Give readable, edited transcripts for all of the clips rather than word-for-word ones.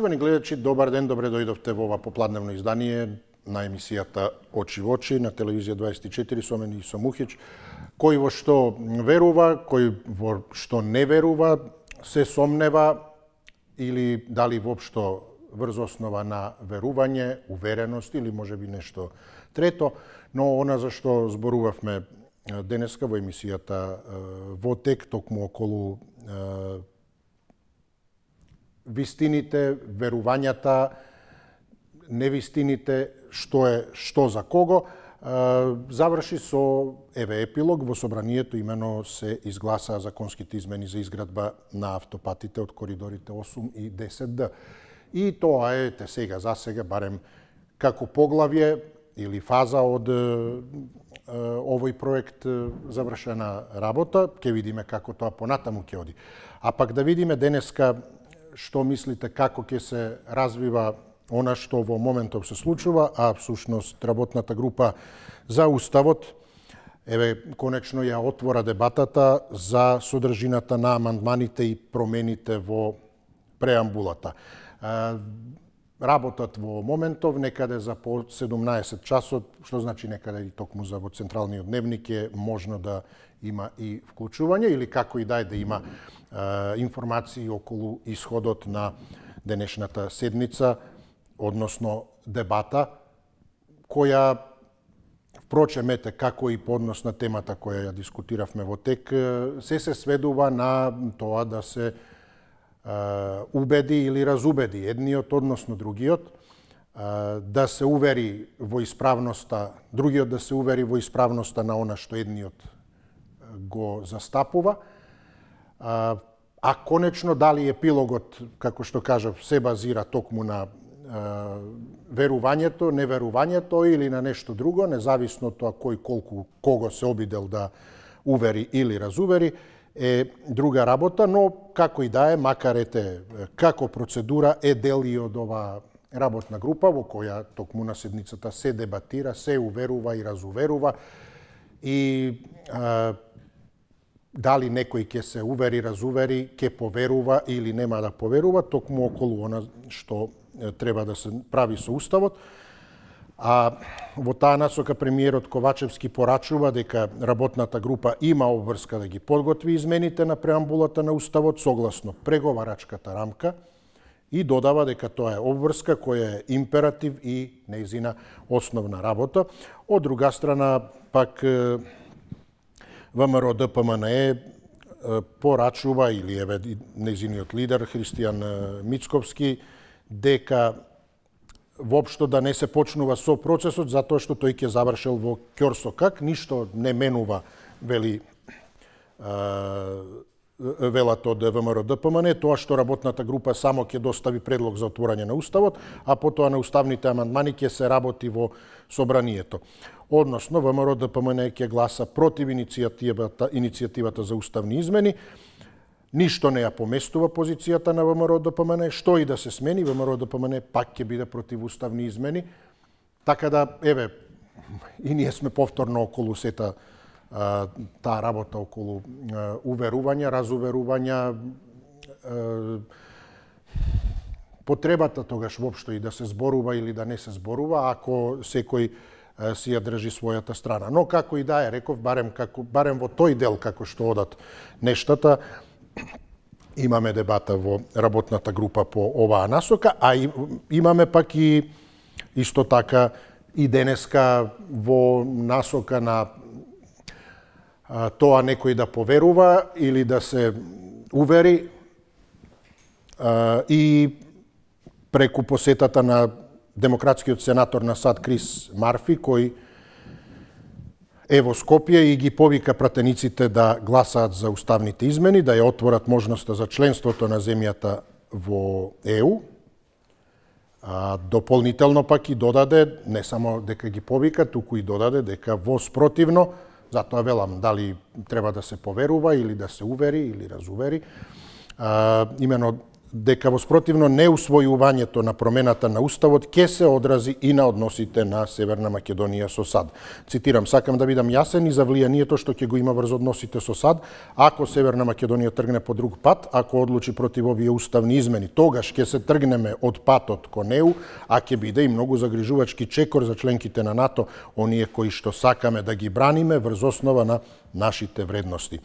Поштовани гледачи, добар ден, добре дојдовте во ова попладневно издание на емисијата Очи во очи на телевизија 24 со мене и со Мухич. Кој во што верува, кој во што не верува, се сомнева или дали воопшто врз основа на верување, увереност или можеби нешто трето, но она за што зборувавме денеска во емисијата во тек токму околу вистините, верувањата, невистините, што за кого, заврши со епилог во собранието, имено се изгласаа законските измени за изградба на автопатите од коридорите 8 и 10Д. И тоа е сега за сега барем како поглавје или фаза од овој проект завршена работа, ќе видиме како тоа понатаму ќе оди. А пак да видиме денеска што мислите како ќе се развива она што во моментов се случува, а всушност работната група за Уставот конечно ја отвора дебатата за содржината на амандманите и промените во преамбулата. Работат во моментов некаде за по 17 часот, што значи некаде и токму за во централниот дневник е можно да има и вклучување или како и да има информации околу исходот на денешната седница, односно дебата, која, впрочем, како и по однос на темата која ја дискутиравме во тек, се сведува на тоа да се убеди или разубеди едниот, односно другиот, да се увери во исправноста, другиот да се увери во исправноста на она што едниот го застапува, а конечно дали епилогот, како што кажав, се базира токму на верувањето, неверувањето или на нешто друго, независно тоа кој колку кого се обидел да увери или разувери, е друга работа, но како и да е, макар како процедура е дел и од ова работна група во која токму на седницата се дебатира, се уверува и разуверува и дали некој ќе се увери, разувери, ќе поверува или нема да поверува, токму околу она што треба да се прави со Уставот. А во таа насока премиерот Ковачевски порачува дека работната група има обврска да ги подготви измените на преамбулата на Уставот согласно преговарачката рамка и додава дека тоа е обврска која е императив и нејзина основна работа. Од друга страна, пак ВМРО ДПМНЕ порачува или нејзиниот лидер Христијан Мицковски дека воопшто да не се почнува со процесот затоа што тој ќе завршил во ќорсокак, ништо не менува, велат од ВМРО ДПМН, тоа што работната група само ќе достави предлог за отворање на Уставот, а потоа на уставните амандмани ќе се работи во собранието. Односно, ВМРО ДПМН ќе гласа против иницијативата за уставни измени. Ништо не ја поместува позицијата на ВМРО ДПМН, што и да се смени, ВМРО ДПМН пак ќе биде против уставни измени. Така да, и ние сме повторно околу сета таа работа околу уверувања, разуверувања, потребата тогаш воопшто и да се зборува или да не се зборува, ако секој си ја држи својата страна. Но како и да е, реков, барем во тој дел како што одат нештата, имаме дебата во работната група по оваа насока, а имаме пак и исто така и денеска во насока на тоа некој да поверува или да се увери и преку посетата на демократскиот сенатор на САД Крис Марфи, кој е во Скопје и ги повика пратениците да гласаат за уставните измени, да ја отворат можноста за членството на земјата во ЕУ. Дополнително пак и додаде, не само дека ги повика, туку и додаде дека во спротивно, затоа велам дали треба да се поверува или да се увери или разувери, имено дека во спротивно неусвојувањето на промената на Уставот ќе се одрази и на односите на Северна Македонија со САД. Цитирам, сакам да бидам јасен и за влијанието што ќе го има врз односите со САД, ако Северна Македонија тргне по друг пат, ако одлучи против овие уставни измени, тогаш ќе се тргнеме од патот кон ЕУ, а ќе биде и многу загрижувачки чекор за членките на НАТО, оние кои што сакаме да ги браниме врз основа на нашите вредности.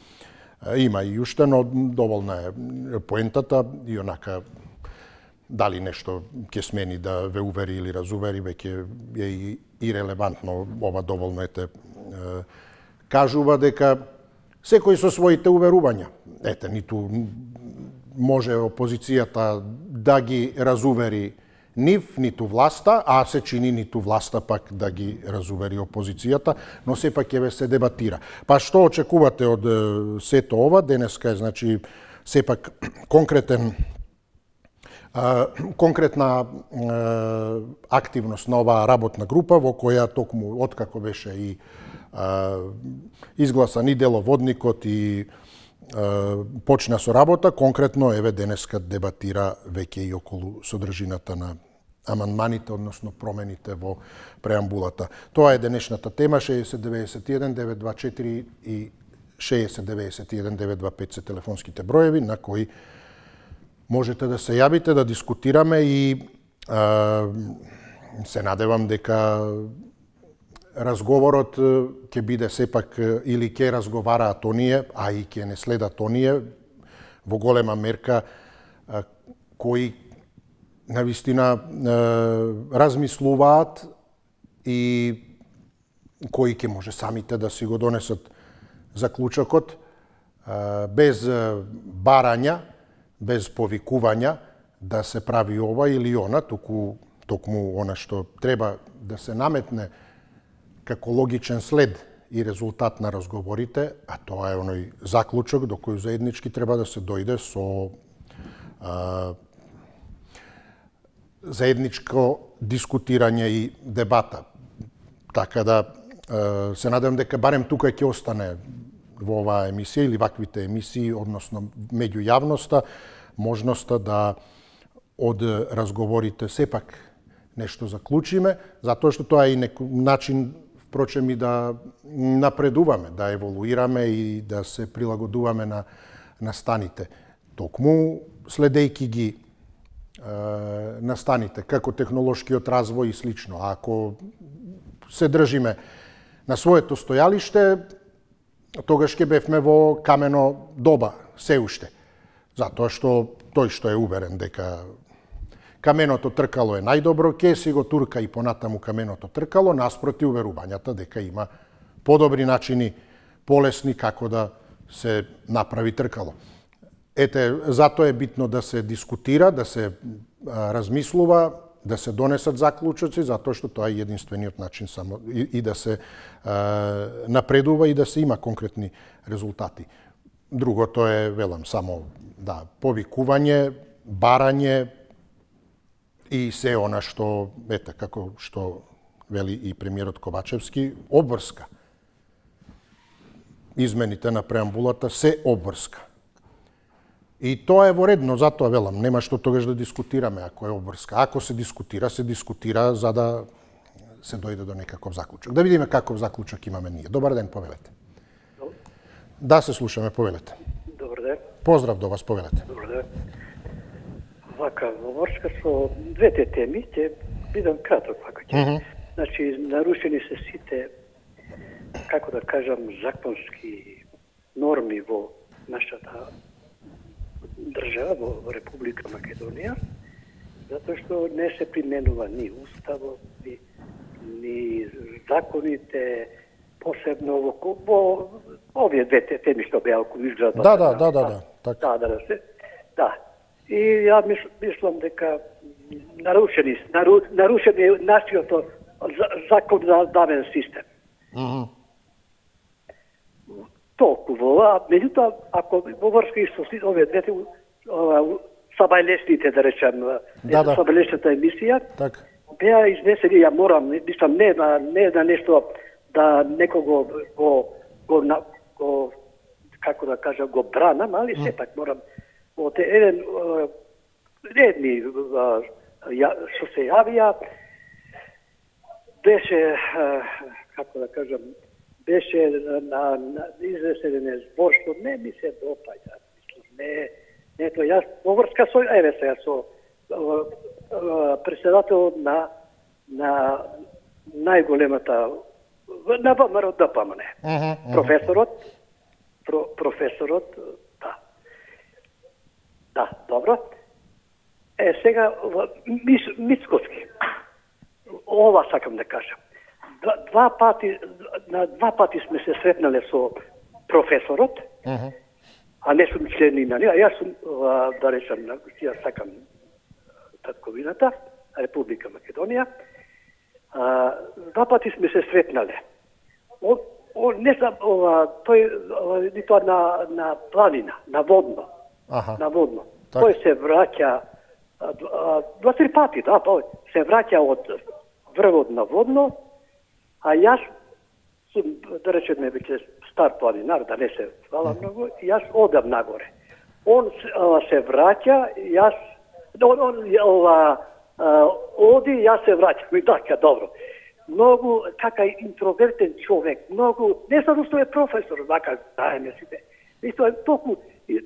Има и уште, но доволна е поентата и онака дали нешто ќе смени да ве увери или разувери, веќе е и релевантно, ова доволно кажува дека секој со своите уверувања. Ете, ниту може опозицијата да ги разувери нив, ниту власта, а се чини ниту власта пак да ги разувери опозицијата, но сепак ќе се дебатира. Па што очекувате од сето ова? Денеска е, значи, сепак конкретна активност на оваа работна група, во која токму откако беше и изгласан и деловодникот и почна со работа, конкретно еве денеска дебатира веќе и околу содржината на амандманите, односно промените во преамбулата. Тоа е денешната тема. 6091-924 и 6091-925 се телефонските броеви на кои можете да се јавите, да дискутираме и се надевам дека разговорот ќе биде сепак или ќе разговараат оние, а и ќе не следат оние во голема мерка кои навистина размислуваат и кои ќе може самите да си го донесат заклучокот без барања, без повикувања да се прави ова или она, токму она што треба да се наметне како логичен след и резултат на разговорите, а тоа е оној заклучок до кој заеднички треба да се дојде со заедничко дискутирање и дебата. Така да се надевам дека барем тука ќе остане во оваа емисија или ваквите емисии, односно меѓу јавноста, можноста да од разговорите сепак нешто заклучиме, затоа што тоа е и начин, впрочем, и да напредуваме, да еволуираме и да се прилагодуваме на станите. Токму следејки ги настаните, како технолошкиот развој и слично. Ако се држиме на своето стојалиште, тогаш ќе бевме во камено доба, се уште. Затоа што тој што е уверен дека каменото тркало е најдобро, ќе си го турка и понатаму каменото тркало, наспроти уверувањата дека има подобри начини, полесни како да се направи тркало. Ете, затоа е битно да се дискутира, да се размислува, да се донесат заклучоци, затоа што тоа е единствениот начин само и да се напредува и да се има конкретни резултати. Другото е, велам, само повикување, барање и се она што, ете, како што вели и премиерот Ковачевски, обврска. Измените на преамбулата се обврска. И тоа е во ред, но затоа велам, нема што тогаш да дискутираме ако е обврска. Ако се дискутира за да се дојде до некаков заклучок. Да видиме каков заклучок имаме ние. Добар ден, повелете. Да, се слушаме, повелете. Добар ден. Поздрав до вас, повелете. Добар ден. Вака, во врска со двете теми, ќе бидам краток вака ќе. Значи, нарушени се сите, како да кажам, законски норми во нашата држава, во Република Македонија, затоа што не се применува ни уставот, ни законите, посебно во овие двете теми што беа околу изградбата. Да. И ја мислам дека нарушени нашиот законодавен систем. Толку а меѓутоа, ако во врска со овие двете сабајлесните, да речем, сабајлесната емисија, беа изнесени, ја морам, мислам, не на нешто да некого како да кажа, го бранам, али сепак морам. Еден едни што се јавија, беше, како да кажам, беше на изресен збор што не ми се допаѓа. Не тоа, јас поврска со, еве сега, со председател на најголемата, на ВМРО ДПМН. Професорот, да, добро. Сега, Мицкоски, ова сакам да кажам. На два пати сме се сретнале со професорот, а не сум член на неа. Јас сум, да речам, јас сакам татковината, Република Македонија. Два пати сме се сретнале. Не сам, тој, нито на планина, на водно. На водно. Тој се враќа, 2-3 пати, да, се враќа од врвот на водно, а јас сум, да речеме, веќе стар планинар, да не се фала многу, јас одам нагоре. Он се враќа, јас, оди, јас се враќам и така, добро. Многу, така интровертен човек, многу, не само што е професор, вака, знаеме сите. Исто е толку,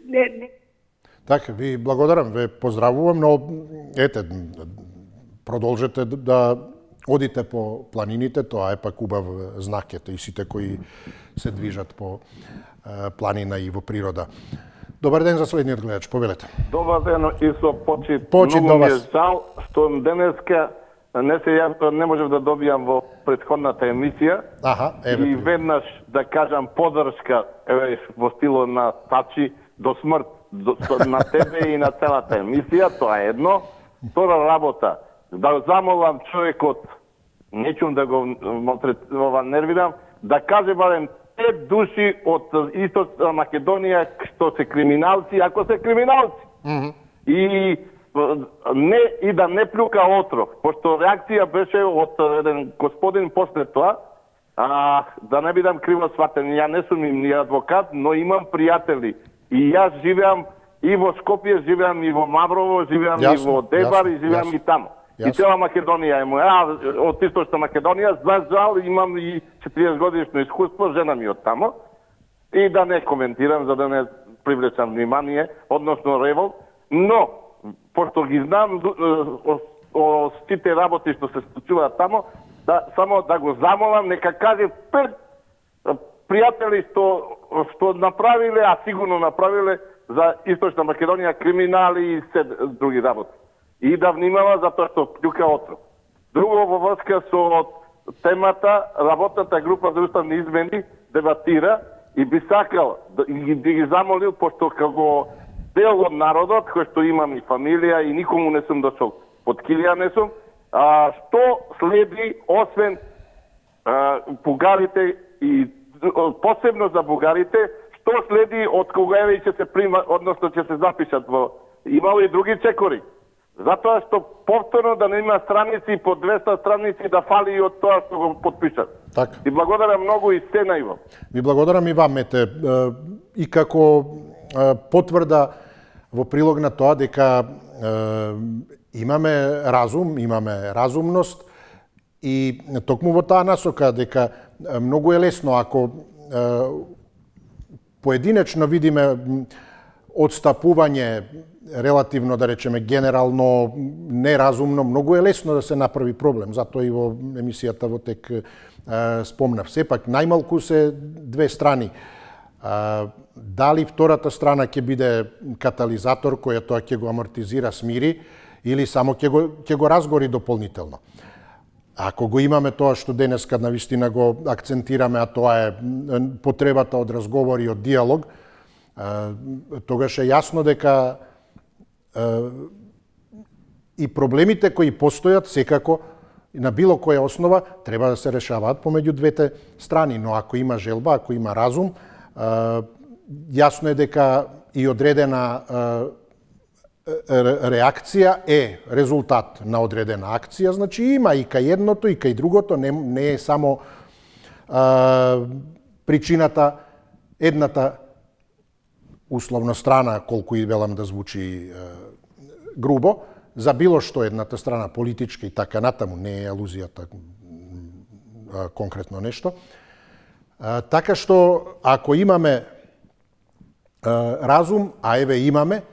не. Така, ви благодарам, ве поздравувам, но ете, продолжете да одите по планините, тоа е пак убав знак, ете, и сите кои се движат по планина и во природа. Добар ден за следниот гледач, повелете. Добар ден и со почит. Почит до вас. Жал што денеска не можев да добијам во претходната емисија. И веднаш да кажам подршка во стилот на Тачи до смрт на тебе и на целата емисија, тоа е едно. Втора работа, да замолам човекот, нечум да го нервирам, да каже барем 5 души од Источна Македонија што се криминалци, ако се криминалци. И да не плюка отров, пошто реакција беше од еден господин после тоа, да не бидам криво сватен, ја не сум ни адвокат, но имам пријатели. И јас живеам и во Скопје, живеам и во Маврово, живеам и во Дебар, и живеам и тамо. И цела Македонија е моја, од Источна Македонија, за жал имам и 40 годишно искуство, жена ми од тамо. И да не коментирам, за да не привлечам внимание, односно револт, но пошто ги знам о сите работи што се случуваат тамо, само да го замолам, нека каже 5 пријатели што направиле, а сигурно направиле за Источна Македонија криминали и се други работи. И да внимава затоа што плюка отров. Друго во врска со темата, работната група за уставни измени дебатира и би сакал да ги замолил, пошто како дел од народот, кој што имам и фамилија и никому не сум дошол под килија не сум, што следи освен бугарите и посебно за бугарите, што следи од кога еве ќе се прима, односно ќе се запишат во, имало и други чекори. Затоа што повторно да не има страници по 200 страници да фали и од тоа што го подпишат. Така. И благодарам многу и се најво. Ви благодарам и вам, ете, и како потврда во прилог на тоа дека имаме разум, имаме разумност и токму во таа насока дека многу е лесно ако поединечно видиме одстапување релативно, да речеме, генерално неразумно, многу е лесно да се направи проблем. Затоа и во емисијата во тек спомнав. Сепак, најмалку се две страни. Дали втората страна ќе биде катализатор која тоа ќе го амортизира, смири, или само ќе го разгори дополнително. Ако го имаме тоа што денеска навистина го акцентираме, а тоа е потребата од разговор и од диалог, тогаш е јасно дека и проблемите кои постојат секако на било која основа треба да се решаваат помеѓу двете страни, но ако има желба, ако има разум, јасно е дека и одредена реакција е резултат на одредена акција, значи има и кај едното и кај другото, не е само причината едната условно страна, колку и велам да звучи грубо за било што едната страна политичка и така натаму, не е алузијата конкретно нешто. Така што ако имаме разум, а еве имаме,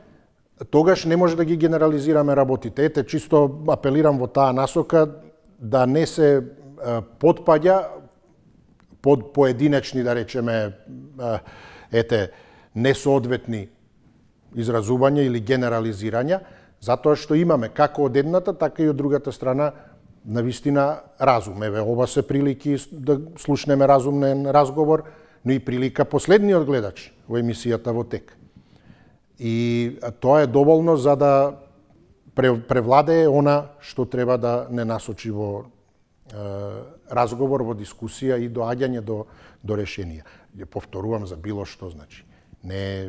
тогаш не може да ги генерализираме работите. Ете, чисто апелирам во таа насока да не се потпаѓа под поединечни, да речеме, несоодветни изразувања или генерализирања, затоа што имаме како од едната, така и од другата страна навистина разум. Еве, ова се прилики да слушнеме разумен разговор, но и прилика последниот гледач во емисијата во тек. И тоа е доволно за да превладее она што треба да не насочи во разговор, во дискусија и доаѓање до решенија. Ја повторувам за било што, значи. Не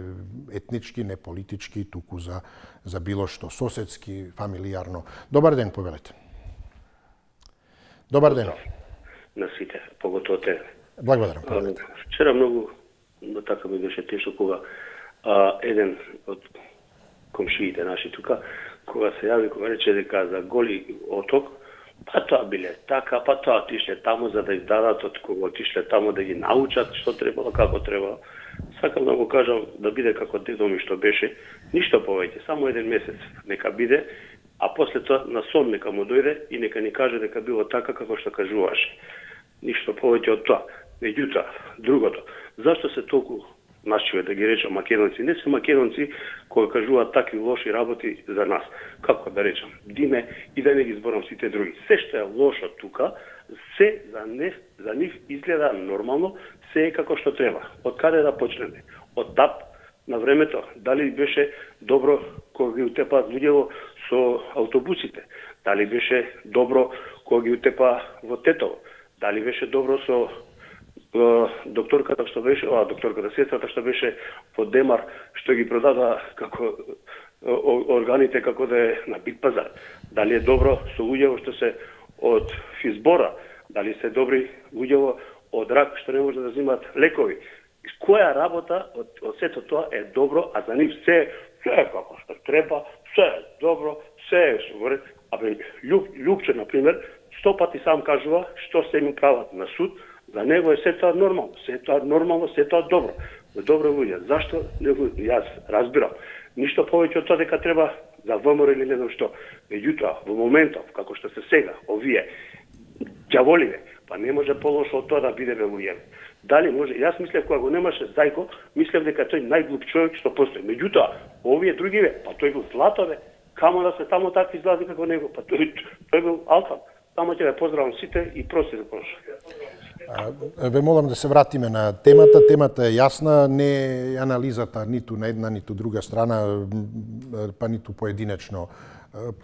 етнички, не политички, туку за било што соседски, фамилијарно. Добар ден, повелете. Добар ден. На сите, поготово те. Благодарам. Вчера многу така ми беше тешко кога еден од комшиите наши тука, кога се јави, кога рече дека за Голи оток, па тоа биле така, па тоа отишле таму за да издадат, од кога отишле таму да ги научат што требало, како требало. Сакам да го кажам да биде како дедо ми што беше, ништо повеќе, само еден месец нека биде, а после тоа на сон нека му дојде и нека ни каже дека било така како што кажуваше. Ништо повеќе од тоа. Меѓутоа, другото, зашто се толку нашиве, да ги речам, македонци, не се македонци кои кажуваат такви лоши работи за нас. Како да речам, Диме и да не ги зборам сите други. Се што е лошо тука, се за нив изгледа нормално, се е како што треба. Од каде да почнеме? Од ТАП на времето, дали беше добро кога ги утепаат луѓето со автобусите? Дали беше добро кога ги утепа во Тетово? Дали беше добро со докторката што беше, сестрата што беше во Демар, што ги продава како органите како да е на бит пазар? Дали е добро со луѓето што се од Физбора? Дали се добри луѓето од рак што не може да взимат лекови? Која работа од сето тоа е добро, а за нив се е како што треба, се е добро, се е сувред. Абе, Љупче, например, 100 пати сам кажува што се им прават на суд, за него е се тоа нормално, се тоа добро. Добро луѓе, зашто не го јас разбирам. Ништо повеќе од тоа дека треба за ВМРО или не знам што. Меѓутоа, во моментов како што се сега, овие ѓаволиве, па не може полошо од тоа да биде луѓе. Дали може? Јас мислев кога го немаше Зајко, мислев дека тој најглуп човек што постои. Меѓутоа, овие другиве, па тој бил златове, камо да се таму такви излази како него, па тој бил алфа. Само ќе ве поздравам сите и прости за прошо. Ве молам да се вратиме на темата. Темата е јасна, не е анализата ниту на една, ниту друга страна, па ниту поединечно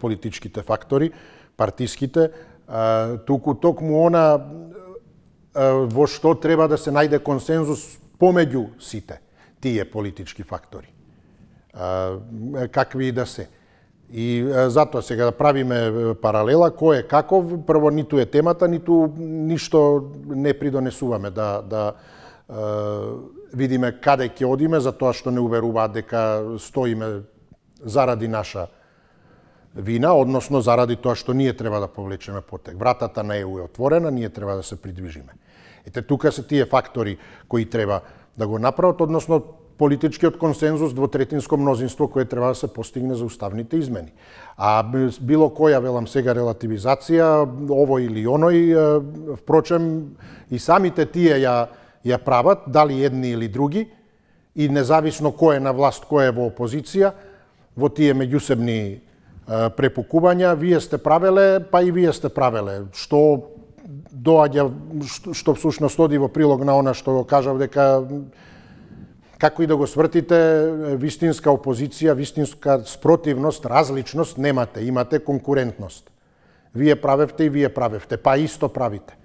политичките фактори, партиските. Туку токму она во што треба да се најде консензус помеѓу сите тие политички фактори. Какви и да се. И затоа сега да правиме паралела, кој е каков, прво ниту е темата, ниту ништо не придонесуваме да видиме каде ќе одиме, затоа што не уверуваат дека стоиме заради наша вина, односно заради тоа што ние треба да повлечеме потек. Вратата на ЕУ е отворена, ние треба да се придвижиме. Ете, тука се тие фактори кои треба да го направат, односно политичкиот консензус, двотретинско мнозинство кое треба да се постигне за уставните измени. А било која, велам сега, релативизација, ово или оној, впрочем, и самите тие ја прават, дали едни или други, и независно кој е на власт, кој е во опозиција, во тие меѓусебни препукувања, вие сте правеле, па и вие сте правеле. Што доаѓа, што всушност оди во прилог на она што го кажав, дека како и да го свртите, вистинска опозиција, вистинска спротивност, различност немате, имате конкурентност. Вие правевте и вие правевте, па исто правите.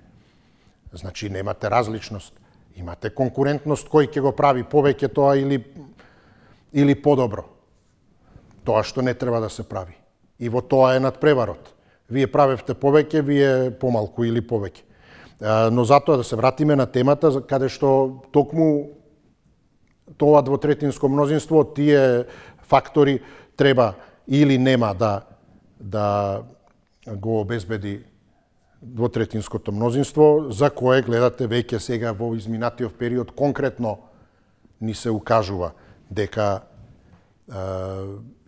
Значи немате различност, имате конкурентност, кој ќе го прави повеќе тоа или подобро. Тоа што не треба да се прави. И во тоа е надпреварот. Вие правевте повеќе, вие помалку или повеќе. Но затоа да се вратиме на темата, каде што токму тоа двотретинско мнозинство, тие фактори треба или нема да го обезбеди двотретинското мнозинство, за кое гледате веќе сега во изминатиот период конкретно ни се укажува дека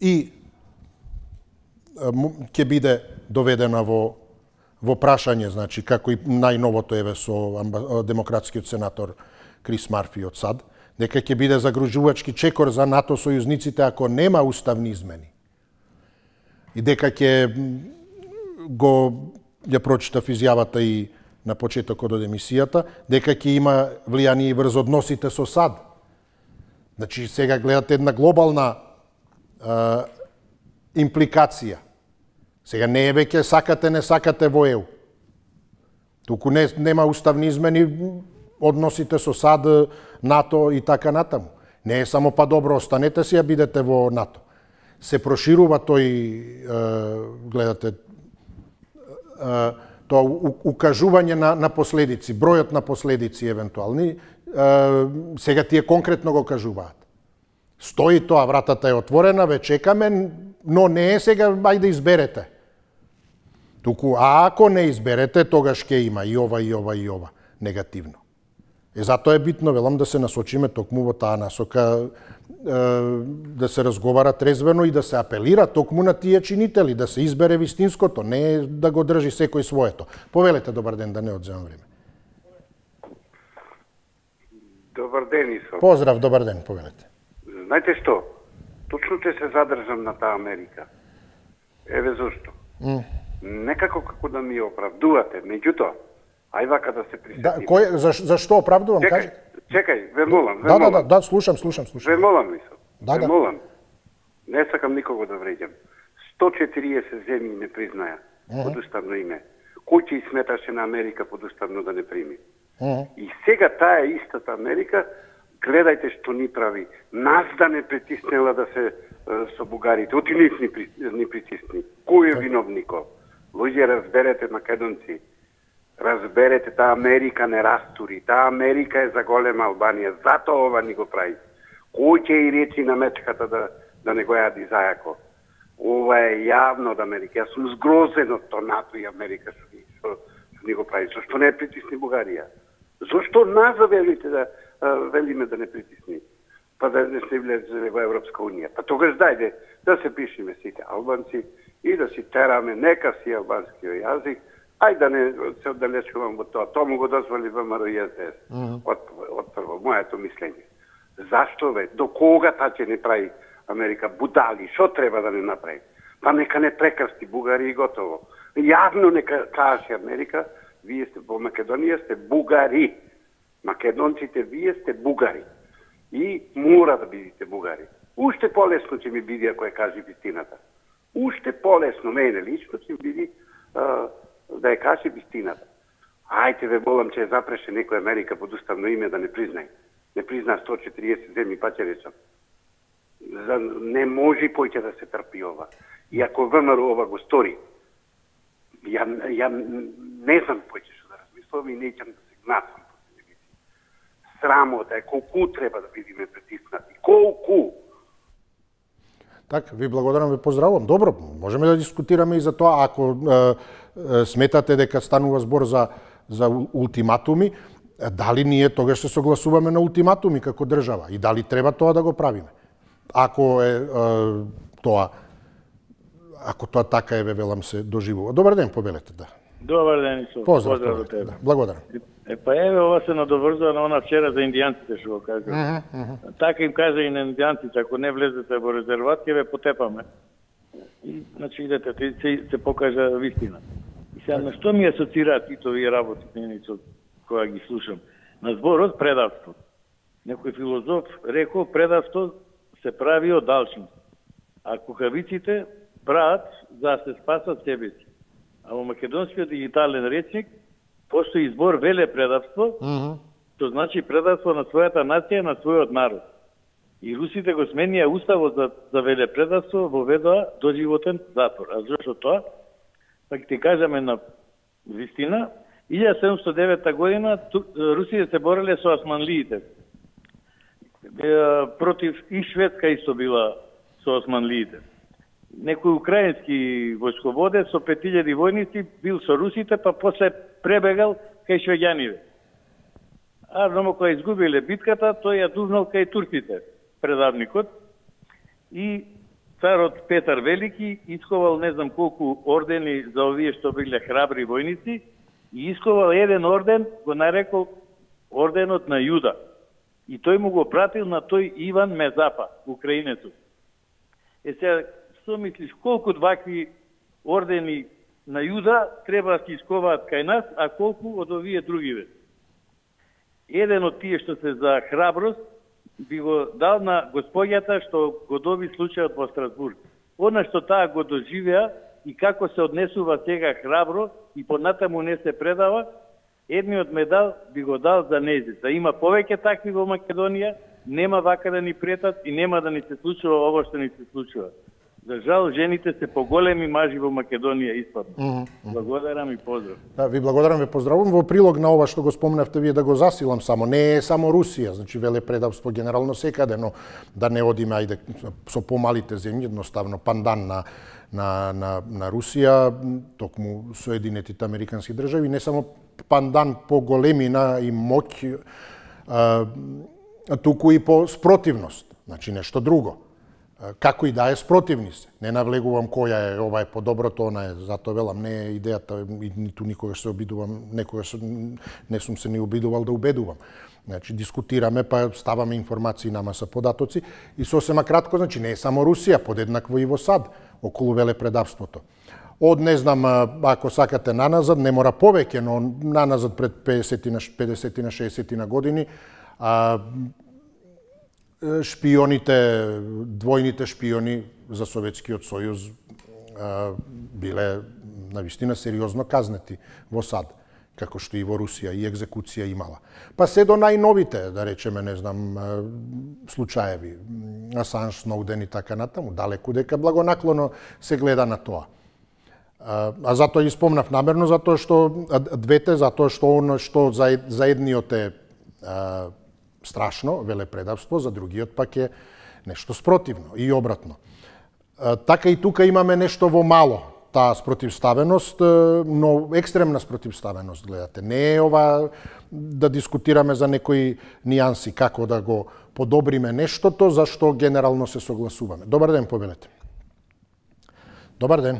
и ќе биде доведена во прашање, значи, како и најновото еве со демократскиот сенатор Крис Марфи од САД, дека ќе биде загружувачки чекор за НАТО сојузниците ако нема уставни измени. И дека ќе ја прочитав изјавата и на почетокот од емисијата, дека ќе има влијание и врз односите со САД. Значи, сега гледате една глобална импликација. Сега не е веќе сакате, не сакате во ЕУ. Туку нема уставни измени, односите со САД, НАТО и така натаму. Не е само па добро, останете си, а бидете во НАТО. Се проширува тој, гледате, тоа укажување на последици, бројот на последици евентуални, сега тие конкретно го кажуваат. Стои тоа, вратата е отворена, ве чекаме, но не е сега, ајде изберете. Туку, а ако не изберете, тогаш ќе има и ова, и ова, и ова, негативно. Затоа е битно, велам, да се насочиме токму во таа насока, да се разговара трезвено и да се апелира токму на тие чинители, да се избере вистинското, не да го држи секој своето. Повелете, добар ден, да не одземам време. Добар ден, Исо. Поздрав, добар ден, повелете. Знаете што? Точно ќе се задржам на таа Америка. Еве зошто. Некако како да ми оправдувате, меѓутоа, ај вака да се присетиме. Зашто оправдувам? Чекај, ве молам. Да, слушам. Ве молам, Исо. Ве молам. Не сакам никого да вреѓам. 140 земји не признаја под уставно име. Кој ќе сметаше на Америка под уставно да не прими? И сега таа истата Америка, гледајте што ни прави. Нас да не притиснела да се со бугарите. Оти ни притисни. Кој е виновников? Луѓе, разберете, македонци. Разберете, таа Америка не растури. Таа Америка е за голема Албанија. Затоа ова ни го прави. Кој ќе и речи на мечката да не го јади зајако? Ова е јавно од Америка. Јас сум згрозен од тоа НАТО и Америка што ни го прави. Зошто не притисни Бугарија? Зошто нас велите да велиме да не притисни? Па да не се влезе во Европска Унија. Па тогаш дајде да се пишеме сите албанци и да си тераме, нека си албанскиот јазик, ај да не се оддалечувам во тоа. Тоа му го дозволи ВМРО и СДС. Од прво, моето мислење. Зашто бе? До кога та ќе не прави Америка будали? Шо треба да не направи? Па нека не прекрсти Бугари и готово. Јавно нека каже Америка, вие сте во Македонија, сте бугари. Македонците, вие сте бугари. И мора да бидите бугари. Уште полесно ќе ми биде ако ја каже вистината. Уште полесно, мене лично ќе биде да ја каже вистината. Ајте ве молам, че ја запреше некој Америка под уставно име да не признај. Не призна 140 земји, па ќе речам. Не може поќе да се трпи ова. И ако ВМРО ова го стори, ја не знам поќе што да размислувам и неќам да се гнасам по телевизија. Срамота е, колку треба да бидеме притиснати. Колку? Така, ви благодарам, ви поздравувам. Добро, можеме да дискутираме и за тоа. Ако сметате дека станува збор за ултиматуми, дали ние тогаш се согласуваме на ултиматуми како држава и дали треба тоа да го правиме? Ако тоа така е, велам, се доживува. Добар ден, повелете, да. Добар ден, Исо. Поздрав до тебе. Да. Благодарам. Па еве, ова се надоврзува на она вчера за индијанците што го кажа. Така им кажа и на индијанците, ако не влезете во резерват, ќе ве потепаме. И, значи, идете, се покажа вистина. И сега, на што ми асоцираат и овие работи, Исо, кога ги слушам? На зборот предавство. Некој филозоф рекол, предавство се прави од алчност, а кукавиците прават за да се спасат себе си. А во македонскиот дигитален речник постои збор веле предавство, што значи предавство на својата нација, на својот народ. И русите го сменија уставот за веле предавство, воведоа доживотен затвор. А зашто тоа? Па ќе ти кажаме на вистина, 1709 година Русија се бореле со османлиите. Против и Шведска исто била со османлиите. некој украински војсководец со 5000 војници бил со русите, па после пребегал кај швеѓаните. А но кога изгубиле битката, тој ја дувнал кај турците, предавникот, и царот Петар Велики исковал не знам колку ордени за овие што биле храбри војници и исковал еден орден, го нарекол орденот на Јуда. И тој му го пратил на тој Иван Мезапа, украинецот. Сега, што мислиш, колку вакви ордени на Јуда треба да се исковаат кај нас, а колку од овие другиве? Еден од тие што се за храброст би го дал на господјата што го доби случајот во Страсбург. Она што таа го доживеа и како се однесува сега храбро и понатаму не се предава, едниот медал би го дал за нејзе. Да има повеќе такви во Македонија, нема вака да ни претат и нема да ни се случува ово што ни се случува. За жал, жените се поголеми мажи во Македонија испадно. Благодарам и поздрав. Да, ви благодарам, ви поздравувам. Во прилог на ова што го спомнавте вие, да го засилам само, не е само Русија, значи велепредавство генерално секаде, но да не одиме ајде со помалите земји, едноставно пандан на Русија, токму Соединетите американски држави, не само пандан по големина и моќ, туку и по спротивност, значи нешто друго. Како и да е, спротивни се. Не навлегувам која е, ова е подоброто, она е, затоа велам, не е идејата, и ниту никогаш се обидувам, некогаш не сум се ни обидувал да убедувам. Значи, дискутираме, па ставаме информации на маса податоци и сосема кратко, значи, не е само Русија, подеднакво и во САД, околу велепредавството. Од, не знам, ако сакате наназад, не мора повеќе, но наназад пред 50-60 години, шпионите, двојните шпиони за Советскиот сојуз биле навистина сериозно казнети во САД, како што и во Русија и екзекуција имала. Па се до најновите, да речеме, не знам, случаеви, Асанж, Сноуден и така натаму, далеку дека благонаклоно се гледа на тоа. А затоа и спомнав намерно, затоа што двете, затоа што оно што за едниот е страшно, велепредавство, за другиот пак е нешто спротивно и обратно. Така и тука имаме нешто во мало, таа спротивставеност, но екстремна спротивставеност, гледате. Не е ова да дискутираме за некои нијанси, како да го подобриме нештото, за што генерално се согласуваме. Добар ден, повелете. Добар ден.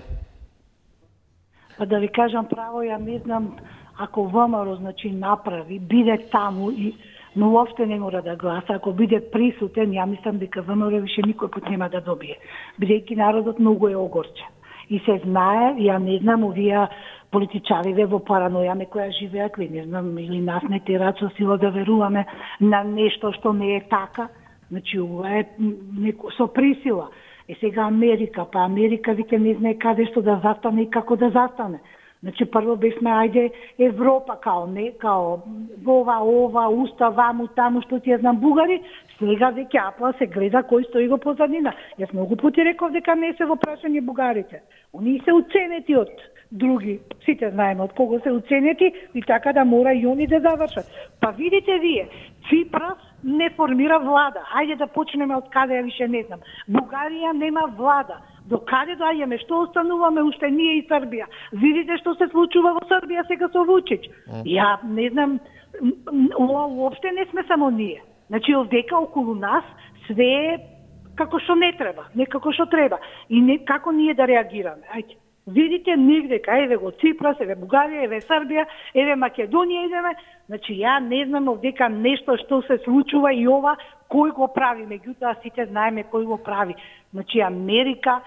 Па да ви кажам право, ја не знам, ако ВМРО, значи, направи, биде таму и но уопште не мора да гласа. Ако биде присутен, ја мислам дека ВМРО више никој пат нема да добие. Бидејќи народот многу е огорчен. И се знае, ја не знам, овие политичариве во параноја некоја живеат, не знам, или нас не терат со сила да веруваме на нешто што не е така. Значи, ова е со присила. Е сега Америка, па Америка виќе не знае каде што да застане и како да застане. Значи, прво бевме, ајде, Европа, као ова, устав, ваму, таму, што ти ја знам, бугари, сега веќе апла се гледа кој стои го позадина. Јас многу пути реков дека не се во прашање бугарите. Они се уценети од други, сите знаеме од кого се уценети и така да мора и они да завршат. Па видите вие, Ципрас не формира влада. Ајде да почнеме од каде, ја више не знам. Бугарија нема влада. До каде доаѓаме, што остануваме уште ние и Србија? Видите што се случува во Србија сега со Вучич. Ја не знам, уопште не сме само ние. Значи, овдека околу нас све е како што не треба, не како што треба. И не како ние да реагираме. Ајде. Видите негде, еве го Ципрас, еве Бугарија, еве Србија, еве Македонија идеме. Значи, ја не знам овдека нешто што се случува и ова кој го прави, меѓутоа сите знаеме кој го прави. Значи, Америка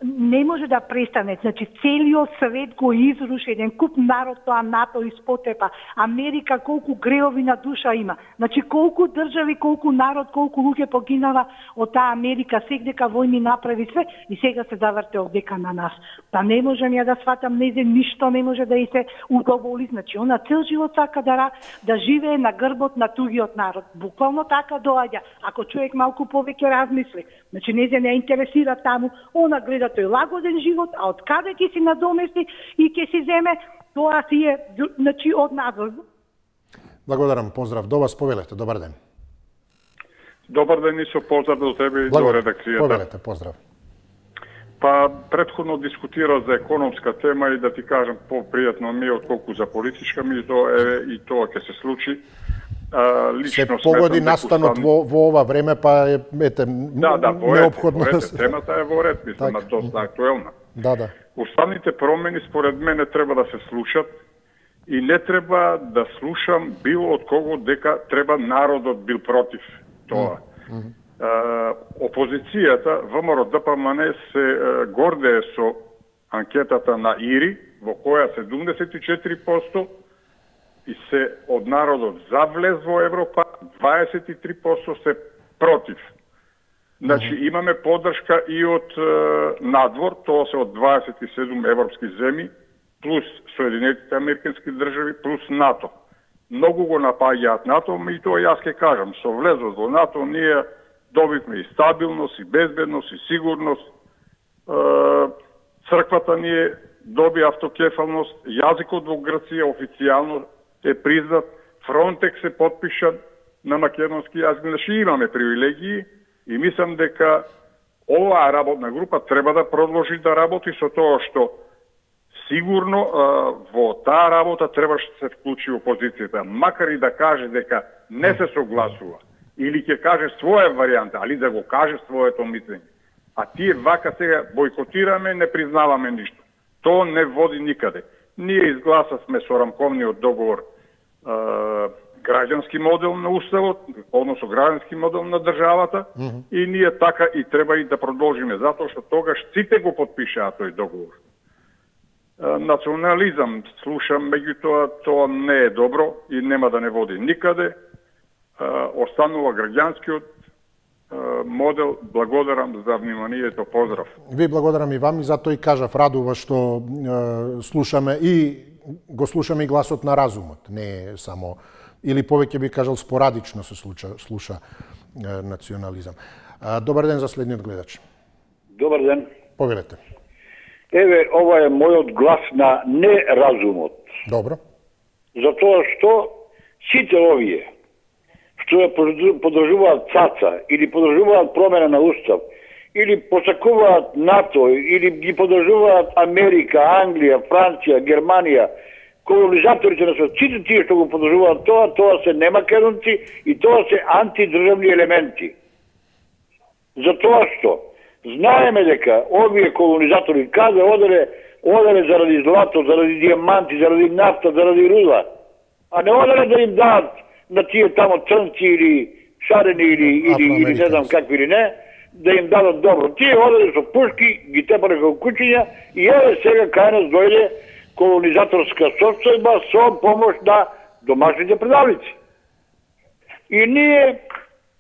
не може да престане. Значи, целиот свет го изруши, еден куп народ, тоа НАТО испотепа. Америка колку греови на душа има. Значи, колку држави, колку народ, колку луѓе погинава од таа Америка, сегдека војни направи све и сега се заврте овдека на нас. Па не можам ја да сватам, незе ништо не може да и се удоволи. Значи, она цел живот сака да живее на грбот на тугиот народ. Буквално така доаѓа. Ако човек малку повеќе размисли. Значи, незе не интересира таму, она гледа тој лагоден живот, а од каде ќе си надомести и ќе си земе, тоа си е, значи, од надвор. Благодарам, поздрав до вас, повелете, добар ден. Добар ден и со поздрав до тебе и до редакцијата. Повелете, поздрав. Па претходно дискутира за економска тема и да ти кажам попријатно ми отколку за политичка ми и тоа ќе се случи. Лично се погоди настанот во ова време, па ете неопходно. Темата е во ред, мислам, доста актуелна. Да. Уставните промени според мене треба да се слушат и не треба да слушам било од кого дека треба народот бил против тоа. Опозицијата, ВМРО ДПМН се гордее со анкетата на ИРИ, во која 74% и се од народот за влез во Европа, 23% се против. Значи имаме поддршка и од надвор, тоа се од 27 европски земји, плюс Соединетите американски држави, плюс НАТО. Многу го напаѓаат НАТО, и тоа јас ќе кажам, со влезот во НАТО ние добивме и стабилност, и безбедност, и сигурност. Црквата ни доби автокефалност, јазикот во Грција официјално е признат, Фронтекс е подпишан на македонски јазик, значи имаме привилегии и мислам дека оваа работна група треба да продолжи да работи со тоа што сигурно во таа работа требаше да се вклучи опозицијата, макар и да каже дека не се согласува или ќе каже своја варијанта, али да го каже своето мислење. А тие вака сега бойкотираме, не признаваме ништо. Тоа не води никаде. Ние изгласавме со рамковниот договор граѓански модел на уставот, односно граѓански модел на државата, и ние така и треба и да продолжиме, затоа што тогаш сите го подпишаа тој договор. Национализам слушам, меѓутоа тоа не е добро и нема да не води никаде. Останува граѓанскиот модел. Благодарам за вниманието, поздрав. Ви благодарам и вам и затоа и кажав, радува што слушаме и го слушаме и гласот на разумот, не е само, или повеќе би кажал спорадично се слуша национализам. Добар ден за следниот гледач. Добар ден. Повелете. Еве, ова е мојот глас на неразумот. Добро. Затоа што сите овие што ја подржуваат ЦАЦА или подржуваат промена на устав или посакуваат НАТО или ги подржуваат Америка, Англија, Франција, Германија, колонизаторите на свет, сите тие што го подржуваат тоа се немакедонци и тоа се антидржавни елементи. Затоа што знаеме дека овие колонизатори каде оделе заради злато, заради дијаманти, заради нафта, заради руда, а не оделе да им дадат на тие тамо црнци или шарени или не знам какви или не, да им дадат добро. Тие оделе со пушки, ги тепале како кучиња и еве сега кај нас дојде колонизаторска состојба со помош на домашните предавници. И ние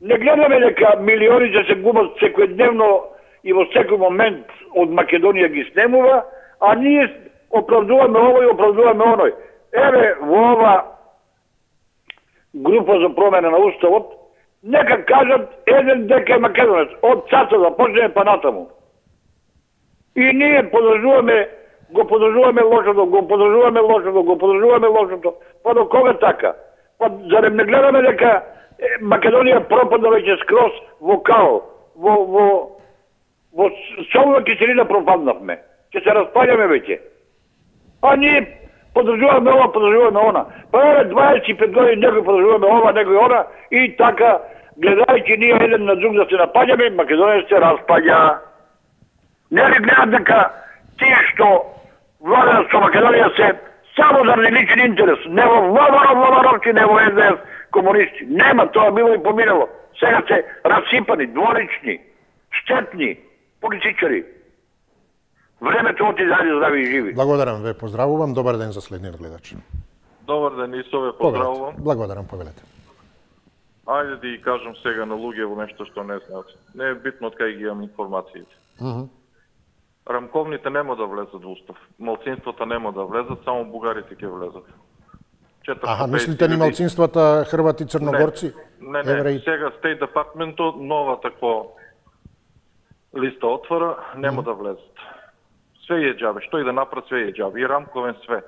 не гледаме дека милиони се губат секојдневно и во секој момент од Македонија ги снемува, а ние оправдуваме ово и оправдуваме оној. Еве во ова група за промена на уставот, нека кажат еден дека е македонец, од ЦАЦА да почнеме па натаму. И ние го подржуваме лошото, па до кога така? Па зарем не гледаме дека Македонија пропадна веќе скроз во као, во солна киселина пропаднавме. Ќе се распаѓаме веќе. А ние подржуваме ова, подржуваме она. Па еве 25 години некој подржуваме ова, некој она и така, гледајќи ние еден на друг да се напаѓаме, Македонија се распаѓа. Не ли гледат дека тие што владеат со Македонија се само заради личен интерес, не во Владановци, не во СДС, комунисти. Нема, тоа било и поминало. Сега се расипани, дволични, штетни политичари. Времето оти зајде здрави и живи. Благодарам, ве поздравувам. Добар ден за следниот гледач. Добар ден, и со ве поздравувам. Благодарам, повелете. Ајде да ги кажам сега на луѓето нешто што не знаат. Не е битно од кај ги имам информациите. Рамковните нема да влезат во устав. Малцинствата нема да влезат, само бугарите ќе влезат. Мислите ни малцинствата хрвати, црногорци? Не, сега State Department нова таква листа отвора, нема да влезат. Све е џабе, што и да направат, све е џабе. И рамковен све.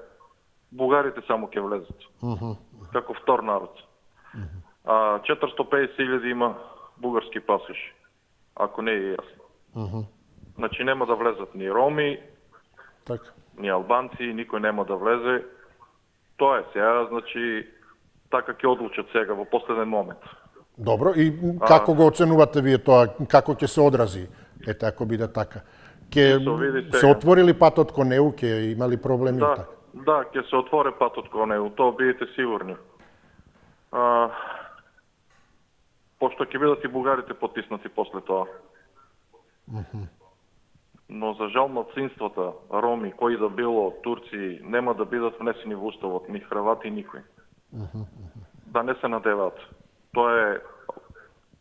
Бугарите само ќе влезат. Како втор народ. 450.000 има бугарски пасоши, ако не е јасно. Значи нема да влезат ни роми, ни албанци, никој нема да влезе. Тоа е сега, значи така ќе одлучат сега во последен момент. Добро, и како го оценувате вие тоа, како ќе се одрази? Ете, ако биде така. Ќе се отворили патот кон ЕУ, ќе имали проблеми? Да, ќе се отвори патот кон ЕУ, тоа бидете сигурни. Пошто ќе бидат и бугарите потиснати после тоа. Но за жал малцинствата, роми, кои да било, турци, нема да бидат внесени во уставот, ни хрвати, никој. Да не се надеваат. Тоа е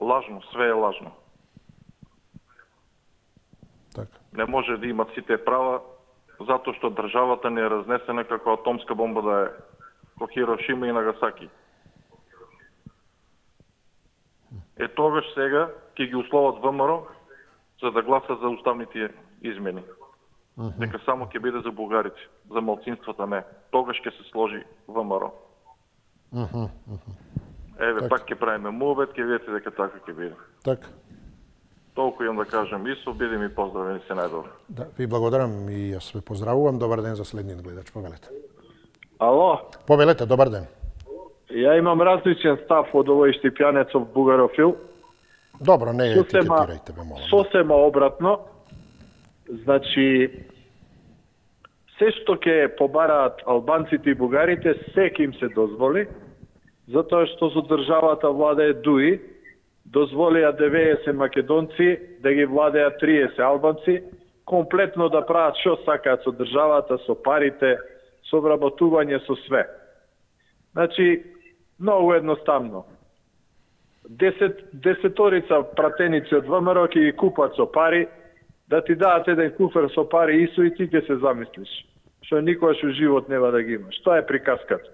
лажно, све е лажно. Не може да имат сите права, затоа што државата не е разнесена како атомска бомба да е ко Хирошима и Нагасаки. Тогаш сега ќе ги условат ВМРО за да гласат за уставните измени. Дека само ќе биде за бугарите, за малцинствата не. Тогаш ќе се сложи ВМРО. Еве, пак ќе правиме мувет, ќе видите дека така ќе биде. Така. Толку имам да кажам, Исо, биде ми поздравени, се најдобро. Да, ви благодарам и јас ве поздравувам. Добар ден за следниот гледач, повелете. Ало? Повелете, добар ден. Ја имам различен став од овој Штипјанецов бугарофил. Добро, не етикетирајте бе, молам. Сосема обратно. Значи, се што ќе побараат албанците и бугарите, се ќе им се дозволи, затоа што со државата владее ДУИ, дозволија 90 македонци да ги владеат 30 албанци, комплетно да прават што сакаат со државата, со парите, со вработување, со све. Значи, многу едноставно. Десеторица пратеници од ВМРО ќе ги купат со пари, да ти дадат еден куфер со пари исо и ти ќе се замислиш. Што никогаш во живот нема да ги имаш. Тоа е приказката.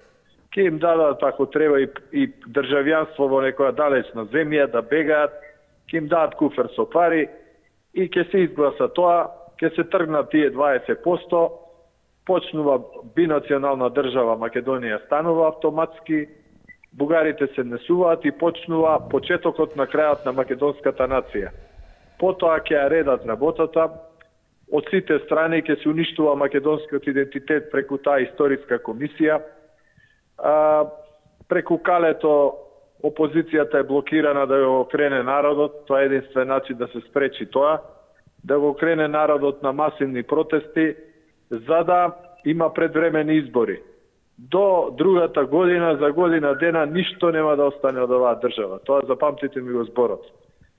Ќе им дадат ако треба и државјанство во некоја далечна земја да бегаат, ќе им дадат куфер со пари и ќе се изгласа тоа, ќе се тргнат тие 20%, почнува бинационална држава Македонија станува автоматски, бугарите се несуваат и почнува почетокот на крајот на македонската нација. Потоа ќе ја редат работата, од сите страни ќе се уништува македонскиот идентитет преку таа историска комисија. Преку калето опозицијата е блокирана да го окрене народот, тоа е единствен начин да се спречи тоа, да го окрене народот на масивни протести, за да има предвремени избори. До другата година, за година дена, ништо нема да остане од оваа држава. Тоа запамтите ми го зборот.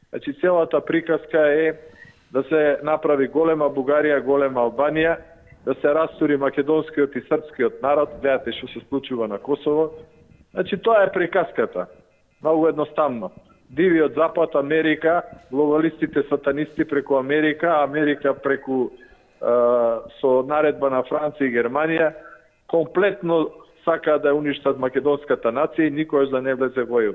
Значи, целата приказка е да се направи голема Бугарија, голема Албанија, да се растури македонскиот и српскиот народ, гледате што се случува на Косово. Значи, тоа е приказката. Многу едноставно. Дивиот Запад, Америка, глобалистите сатанисти преку Америка, Америка преку со наредба на Франција и Германија, комплетно сака да уништат македонската нација и никош да не влезе во ЕУ.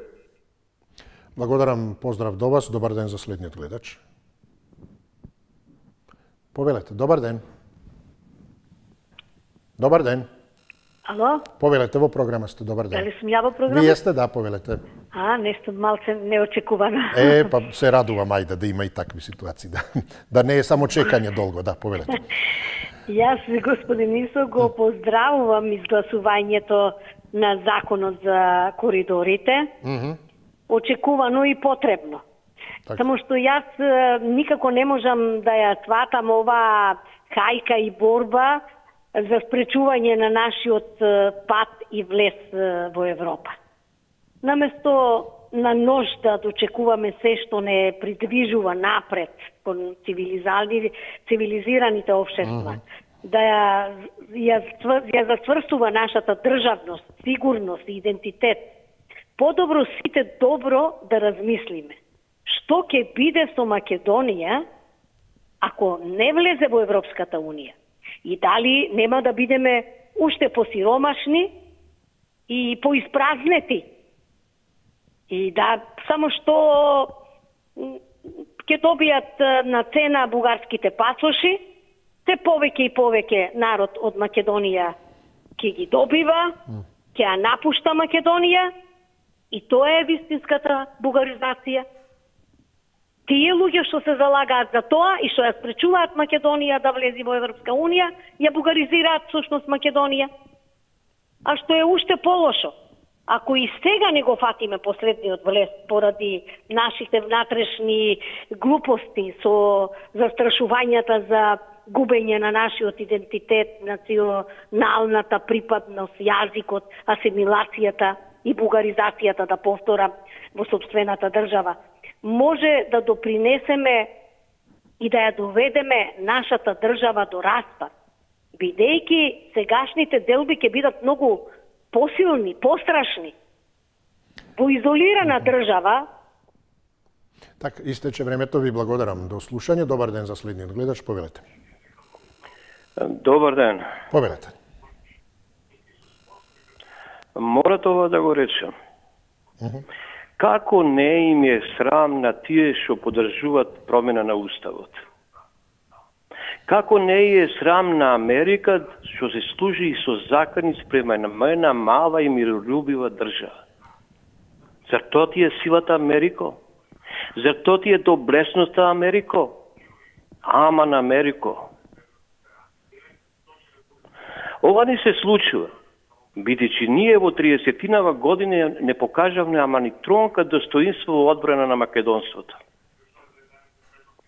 Благодарам, поздрав до вас, добар ден за следниот гледач. Повелете, добар ден. Добар ден. Ало? Повелете, во програма сте, добар ден. Дали сум ја во програма? Вие сте, да, повелете. Нешто малце неочекувано. Па се радувам, ајде, да има и такви ситуации, да. Да не е само чекање долго, да, повелете. Јас, господин Исо, го поздравувам изгласувањето на законот за коридорите. Очекувано и потребно. Само што јас никако не можам да ја сватам оваа хајка и борба за спречување на нашиот пат и влез во Европа. Наместо на нож да дочекуваме се што не придвижува напред кон цивилизираните општества, да ја зацврстува нашата државност, сигурност и идентитет, подобро сите добро да размислиме. Што ќе биде со Македонија ако не влезе во Европската Унија? И дали нема да бидеме уште посиромашни и поиспразнети? И да, само што ќе добијат на цена бугарските пасоши, те повеќе и повеќе народ од Македонија ќе ги добива, ќе ја напушта Македонија и тоа е вистинската бугаризација. Тие луѓе што се залагаат за тоа и што ја спречуваат Македонија да влезе во Европска унија, ја бугаризираат всушност Македонија. А што е уште полошо, ако и сега не го фатиме последниот влез поради нашите внатрешни глупости со застрашувањата за губење на нашиот идентитет, националната припадност, јазикот, асимилацијата и бугаризацијата, да повторам, во сопствената држава, може да допринесеме и да ја доведеме нашата држава до распад, бидејќи сегашните делби ќе бидат многу посилни, пострашни. Во изолирана држава. Така, истече времето, ви благодарам. До слушање. Добар ден за следниот гледач, повелете. Добар ден. Повелете. Мора тоа да го речем. Како не им е срам на тие што поддржуваат промена на Уставот? Како не е срам на Америка што се служи и со закони спрема на една мала и миролюбива држава? Зар тоа ти е силата Америко? Зар тоа ти е доблесноста Америко? Ама на Америко. Ова не се случува, бидејќи ние во 30-тинава години не покажавме ама ни тронка достоинство во одбрана на македонството.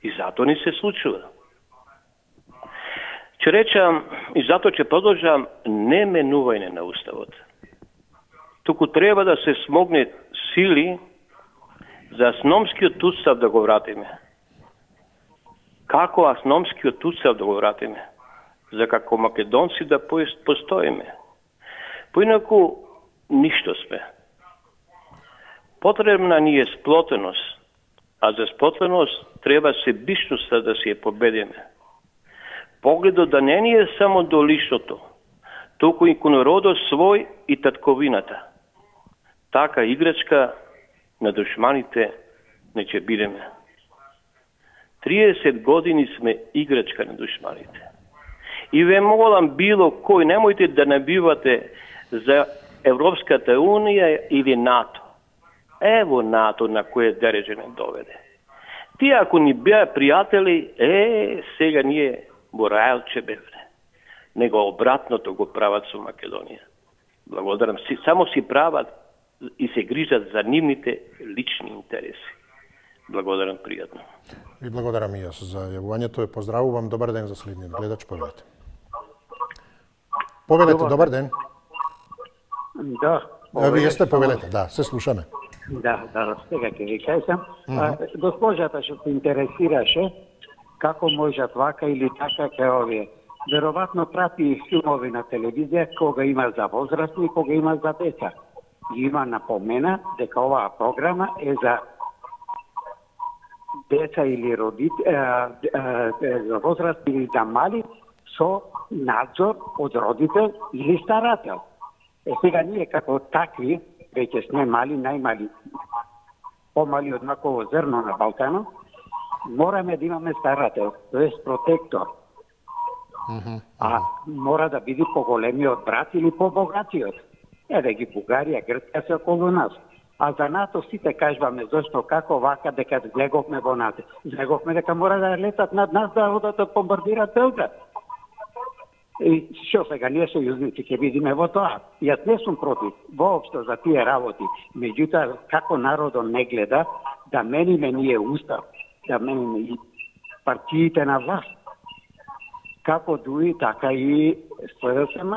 И затоа не се случува. Ќе речам, и затоа ќе продолжам, не менување на Уставот. Туку треба да се смогне сили за асономскиот устав да го вратиме. Како асономскиот устав да го вратиме? За како македонци да постоиме. Поинаку, ништо сме. Потребна ни е сплотеност, а за сплотеност треба себичноста да си ја победиме. Погледот да не ни е само до личното, толку и кон родот свој и татковината. Така играчка на душманите не ќе бидеме. 30 години сме играчка на душманите. И ве молам било кој, немојте да набивате за Европската унија или НАТО. Ево НАТО на кое дереже не доведе. Тие ако ни беа пријатели, сега ние во рајлче бевре. Него обратното го прават со Македонија. Благодарам. Само си прават и се грижат за нивните лични интереси. Благодарам пријатно. Ви благодарам и јас за јавувањето. Ве поздравувам. Добар ден за следниот гледач. Повелете. Повелете, добар ден. Да. Вие сте, повелете, да, се слушаме. Да, сега ќе ви кажам. Госпожата што се интересираше како можат вака или така ке овие. Веројатно прати филмови на телевизија кога има за возрастни и кога има за деца. Има напомена дека оваа програма е за деца или за возрастни или за мали со надзор од родител или старател. Сега ние како такви, веќе сме мали, најмали, помали од маково зрно на Балканот, мораме да имаме старател, тоест протектор. А мора да биде поголемиот брат или побогатиот. Еве ги Бугарија, Грција се околу нас. А за НАТО сите кажуваме зашто како вака дека влеговме во НАТО. Влеговме дека мора да летат над нас да одат да бомбардираат Белград. И што сега ние сојузници ќе видиме во тоа. Јас не сум против воопшто за тие работи. Меѓутоа како народот не гледа да мениме ние устав, да мениме и партиите на власт. Како ДУИ, така и СДСМ.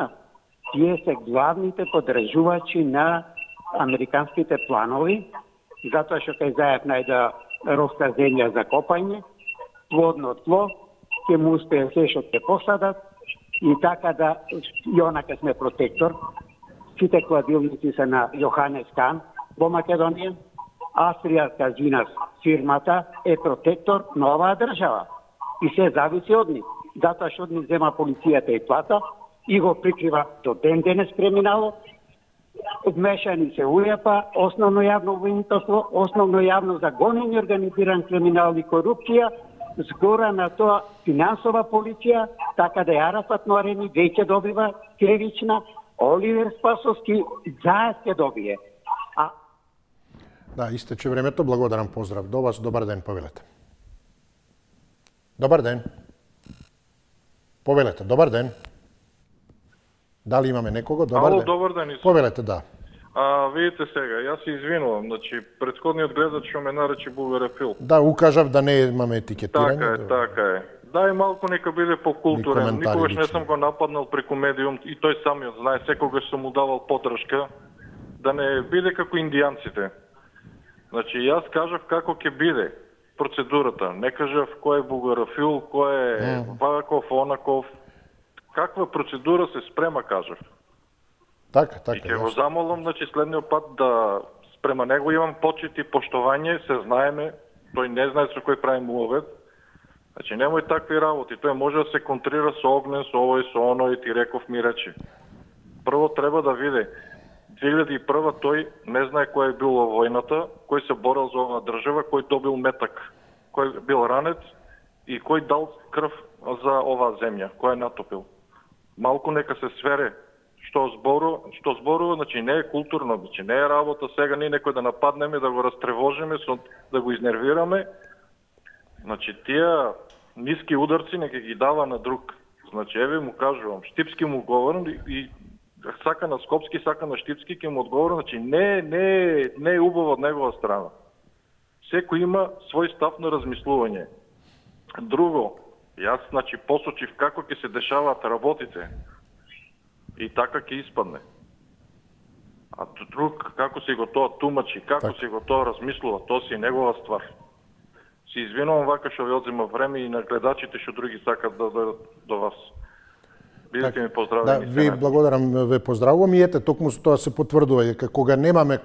Тие се главните поддржувачи на американските планови, затоа што кај Заев најда ровска земја за копање, плодно тло, ќе му успее се што ќе посадат, и така да, и онака сме протектор. Сите кладилници се на Јоханес Кан во Македонија. Австрија Казинас фирмата е протектор на оваа држава. И се зависи од нив. Затоа што од нив зема полицијата и плата и го прикрива до ден денес криминалот. Вмешани се УЈПА, основно јавно обвинителство, основно јавно за гонење организиран криминал и корупција, згора на тоа финансова полиција, така да Арафат Норени веќе добива кривична, Оливер Спасовски заед ќе добие. Да, истече времето. Благодарам, поздрав до вас. Добар ден, повелете. Добар ден. Повелете, добар ден. Дали имаме некого? Добар ден. Добар ден. Повелете, да. Видите сега, јас се извинувам, значи претходниот гледач што ме нарече бугарофил. Да, укажав да не имаме етикетирање. Така е. Да, и малку нека биде покултурен. Никогаш не сум го нападнал преку медиум и тој самиот знае, секогаш сум му давал поддршка да не биде како индијанците. Значи, јас кажав како ќе биде процедурата. Не кажав кој е бугарофил, кој е ваков, онаков. Каква процедура се спрема, кажав. Така. И ќе го замолам, значи, следниот пат да спрема него имам почит и поштовање, се знаеме, тој не знае со кој правим уловет. Значи, немој такви работи, тој може да се контрира со огнен, со овој, со оној, ти реков ми речи. Прво треба да види, 2001 тој не знае кој е бил во војната, кој се борел за оваа држава, кој добил метак, кој бил ранет и кој дал крв за оваа земја, кој е натопил. Малку нека се свере што зборува, значи не е културно, значи не е работа сега ние некој да нападнеме, да го растревожиме, да го изнервираме. Значи тие ниски ударци нека ги дава на друг. Значи еве му кажувам, штипски му говорам и сака на скопски, сака на штипски ќе му одговорам, значи не е убаво од негова страна. Секој има свој став на размислување. Друго, јас значи посочив како ќе се дешаваат работите. И така ќе испадне. А друг, како си го тоа тумачи, како си го тоа размислува, тоа си негова ствар. Си извинувам вака што ви одзема време и на гледачите што други сакат да дојдат до вас. Бидете ми поздравени. Да, ви благодарам, ве поздравувам и ете, токму тоа се потврдува дека кога немаме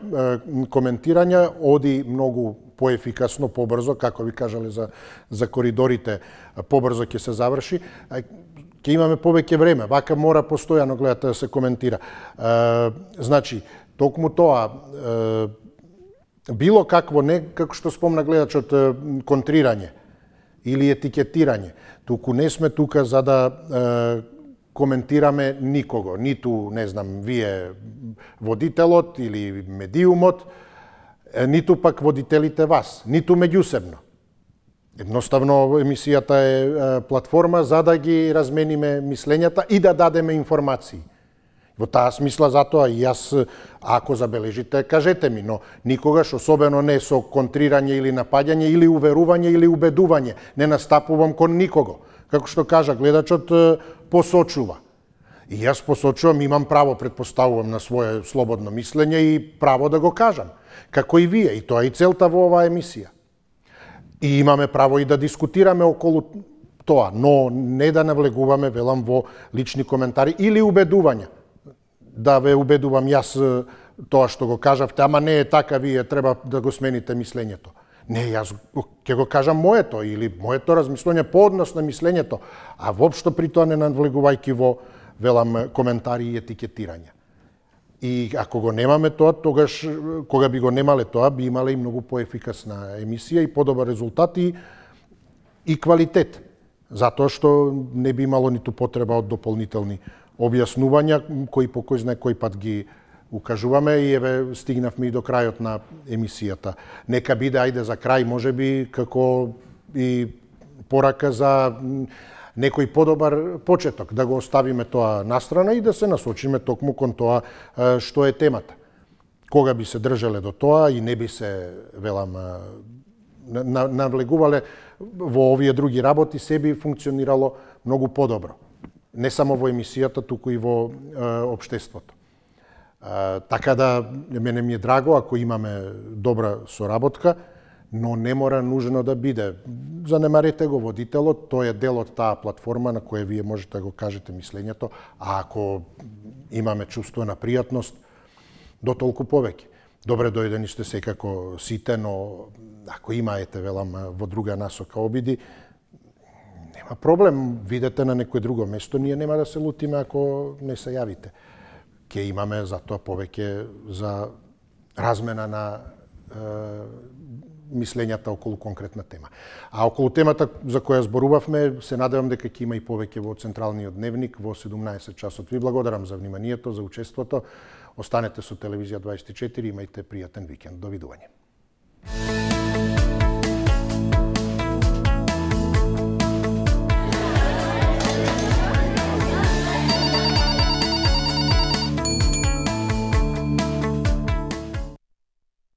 коментирања, оди многу поефикасно, побрзо, како ви кажале за коридорите, побрзо ќе се заврши. Ќе имаме повеќе време, вака мора постојано гледате да се коментира. Значи, токму тоа, било какво, не како што спомна гледачот, контрирање или етикетирање, туку не сме тука за да коментираме никого, ниту, не знам, вие водителот или медиумот, ниту пак водителите вас, ниту меѓусебно. Едноставно, емисијата е платформа за да ги размениме мислењата и да дадеме информации. Во таа смисла затоа и јас, ако забележите, кажете ми, но никогаш, особено не со контрирање или напаѓање, или уверување, или убедување, не настапувам кон никого. Како што кажа гледачот, посочува. И јас посочувам, имам право, предпоставувам на свое слободно мислење и право да го кажам. Како и вие, и тоа е и целта во оваа емисија. И имаме право и да дискутираме околу тоа, но не да навлегуваме, велам, во лични коментари или убедувања. Да ве убедувам јас тоа што го кажавте, ама не е така, вие треба да го смените мислењето. Не, јас ќе го кажам моето или моето размислување по однос на мислењето, а воопшто при тоа не навлегувајќи во, велам, коментари и етикетирања. И ако го немаме тоа, тогаш, кога би го немале тоа, би имале и многу поефикасна емисија и подобар резултат и квалитет. Затоа што не би имало ниту потреба од дополнителни објаснувања, кои по кој знае кој пат ги укажуваме и еве стигнавме и до крајот на емисијата. Нека биде, ајде за крај, може би, како и порака за некој подобар почеток, да го оставиме тоа настрана и да се насочиме токму кон тоа што е темата. Кога би се држале до тоа и не би се, велам, навлегувале во овие други работи, се би функционирало многу подобро. Не само во емисијата, туку и во општеството. Така да, мене ми е драго ако имаме добра соработка, но не мора нужно да биде. Занемарете го водителот, тој е дел од таа платформа на која вие можете да го кажете мислењето, а ако имаме чувство на пријатност, до толку повеќе. Добре дојдени сте секако сите, но ако имаете, велам, во друга насока обиди, нема проблем, видете на некој друго место, ние нема да се лутиме ако не се јавите. Ке имаме затоа повеќе за размена на мислењата околу конкретна тема. А околу темата за која зборувавме, се надевам дека ќе има и повеќе во Централниот дневник во 17 часот. Ви благодарам за вниманието, за учеството. Останете со Телевизија 24, имајте пријатен викенд. Довидување.